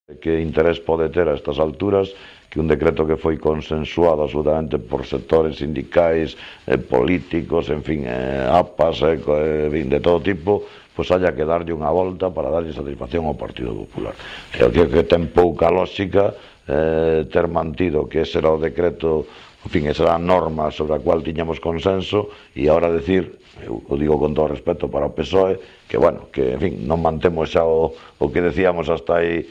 Que interés pode ter a estas alturas que un decreto que foi consensuado absolutamente por sectores sindicais, políticos, en fin, APAs, de todo tipo, pois haya que darlle unha volta para darlle satisfacción ao Partido Popular. Eu creo que ten pouca lógica ter mantido que ese era o decreto, en fin, esa era a norma sobre a cual tiñamos consenso, e agora decir, eu o digo con todo respeto para o PSOE, que, bueno, que, en fin, non mantemos xa o que decíamos hasta aí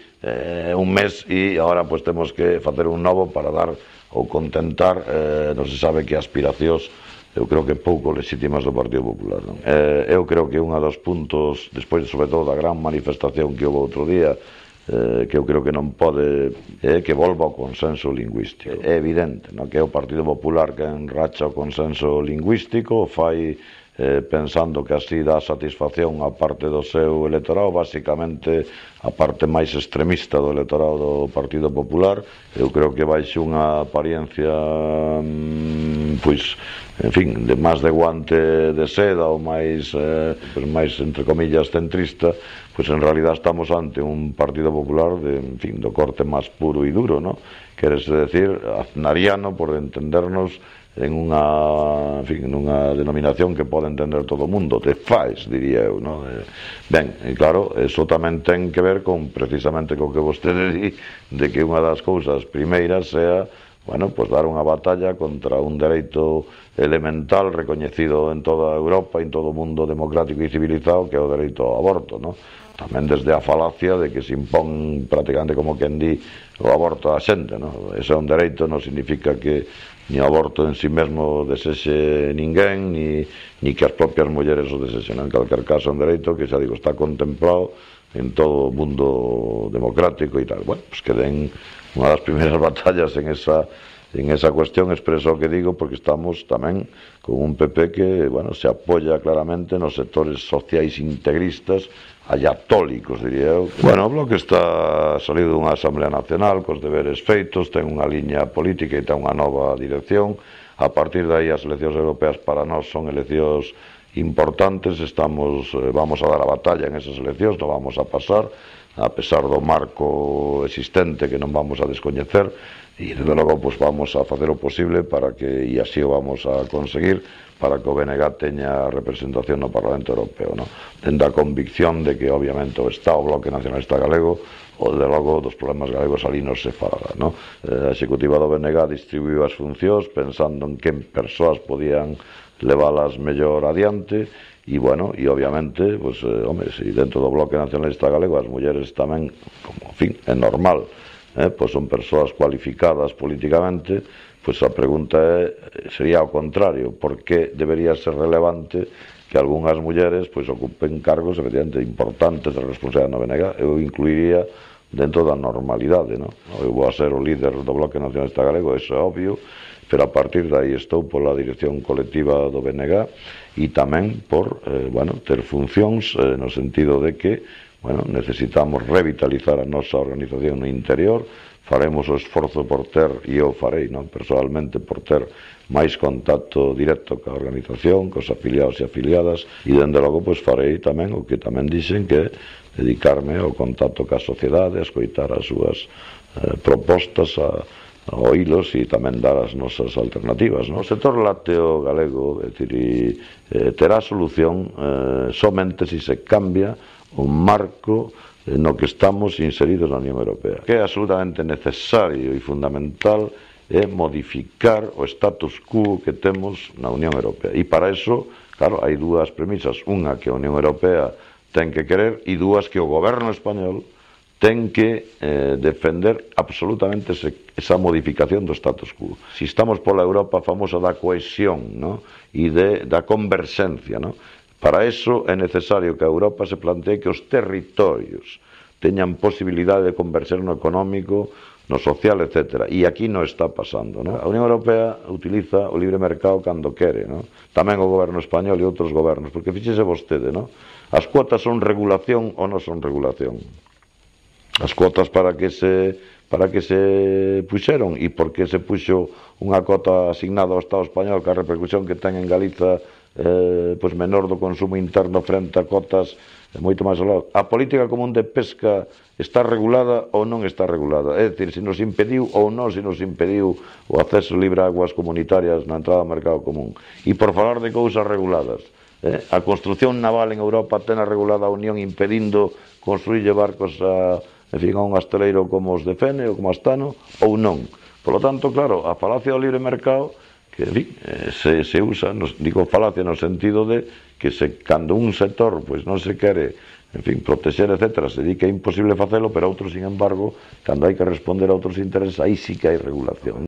un mes e agora pois temos que facer un novo para dar ou contentar non se sabe que aspiracións, eu creo que pouco legítimas do Partido Popular, non? Eu creo que un dos puntos, despois sobre todo da gran manifestación que houve outro día, que eu creo que non pode que volva ao consenso lingüístico. É evidente, non, que é o Partido Popular que enracha o consenso lingüístico, fai pensando que así dá satisfacción a parte do seu electorado, basicamente a parte máis extremista do electorado do Partido Popular. Eu creo que baixe unha apariencia pois, en fin, de máis de guante de seda ou máis, entre comillas, centrista, pois en realidad estamos ante un Partido Popular de, en fin, do corte máis puro e duro, ¿no? Querese decir, aznariano, por entendernos, en unha, en fin, nunha denominación que pode entender todo o mundo, de fais, diría eu, non? Ben, e claro, eso tamén ten que ver con, precisamente, co que vostede di, de que unha das cousas primeiras sea, bueno, pues dar unha batalla contra un dereito elemental recoñecido en toda Europa e en todo o mundo democrático e civilizado, que é o dereito ao aborto, non? Tamén desde a falacia de que se impón prácticamente como quen di o aborto a xente, non? Ese é un dereito, non significa que ni o aborto en si mesmo desexe ninguén, ni que as propias mulleres o desexen. En calquer caso, un dereito que, xa digo, está contemplado en todo o mundo democrático e tal. Bueno, pues que den unha das primeiras batallas en esa cuestión, expreso o que digo, porque estamos tamén con un PP que, bueno, se apoya claramente nos sectores sociais integristas, ayatólicos, diría eu. Bueno, o Bloque está salido dunha Asamblea Nacional cos deberes feitos, ten unha liña política e ten unha nova dirección. A partir de aí as eleccións europeas para nós son eleccións importantes, vamos a dar a batalla en esas eleccións, non vamos a pasar, a pesar do marco existente que non vamos a descoñecer, e desde logo pues, vamos a facer o posible para que, e así o vamos a conseguir, para que o BNG teña representación no Parlamento Europeo, no? Tendo a convicción de que obviamente o Estado, o Bloque Nacionalista Galego, o de logo dos problemas galegos ali non se fala, no? A executiva do BNG distribuiu as funcións pensando en que persoas podían leválas mellor adiante, e bueno, e obviamente pues, home, se dentro do Bloque Nacionalista Galego as mulleres tamén, como, en fin, é normal, pues son persoas cualificadas políticamente, pois a pregunta sería ao contrario, por que debería ser relevante que algunhas mulleres pois ocupen cargos efectivamente importantes de responsabilidade no BNG? Eu incluiría dentro da normalidade, non? Eu vou a ser o líder do Bloque Nacionalista Galego, eso é obvio, pero a partir de aí estou pola dirección colectiva do BNG e tamén por, bueno, ter funcións no sentido de que, bueno, necesitamos revitalizar a nosa organización no interior. Faremos o esforzo por ter, e eu farei, non, personalmente, por ter máis contacto directo ca organización, cos afiliados e afiliadas, e dende logo pois farei tamén o que tamén dixen, que dedicarme ao contacto ca sociedade, a escoitar as súas propostas, a oílos e tamén dar as nosas alternativas, non? O sector lácteo galego, é dicir, terá solución somente se se cambia un marco no que estamos inseridos na Unión Europea. Que é absolutamente necesario e fundamental é modificar o status quo que temos na Unión Europea. E para eso, claro, hai dúas premisas. Unha, que a Unión Europea ten que querer, e dúas, que o goberno español ten que defender absolutamente esa modificación do status quo. Si estamos pola Europa famosa da cohesión, ¿no? E da converxencia, ¿no? Para eso é necesario que a Europa se plantee que os territorios teñan posibilidade de converxer no económico, no social, etc. E aquí non está pasando, ¿no? A Unión Europea utiliza o libre mercado cando quere, ¿no? Tamén o goberno español e outros gobernos, porque fíxese vostede, ¿no? As cuotas son regulación ou non son regulación? As cuotas para que se puxeron, e por que se puxo unha cota asignada ao Estado español, que a repercusión que ten en Galiza pois menor do consumo interno frente a cotas moito máis alado. A política común de pesca está regulada ou non está regulada? É dicir, se nos impediu ou non se nos impediu o acceso libre a aguas comunitarias na entrada ao mercado común. E por falar de cousas reguladas, a construción naval en Europa ten regulada a Unión impedindo construirlle barcos a un asteleiro como os de Fene ou como Astano, ou non. Por lo tanto, claro, a falacia do libre mercado que se usa, digo falacia no sentido de que cando un sector non se quere protexer, etcétera, se di que é imposible facelo, pero outros, sin embargo, cando hai que responder a outros intereses, aí sí que hai regulación.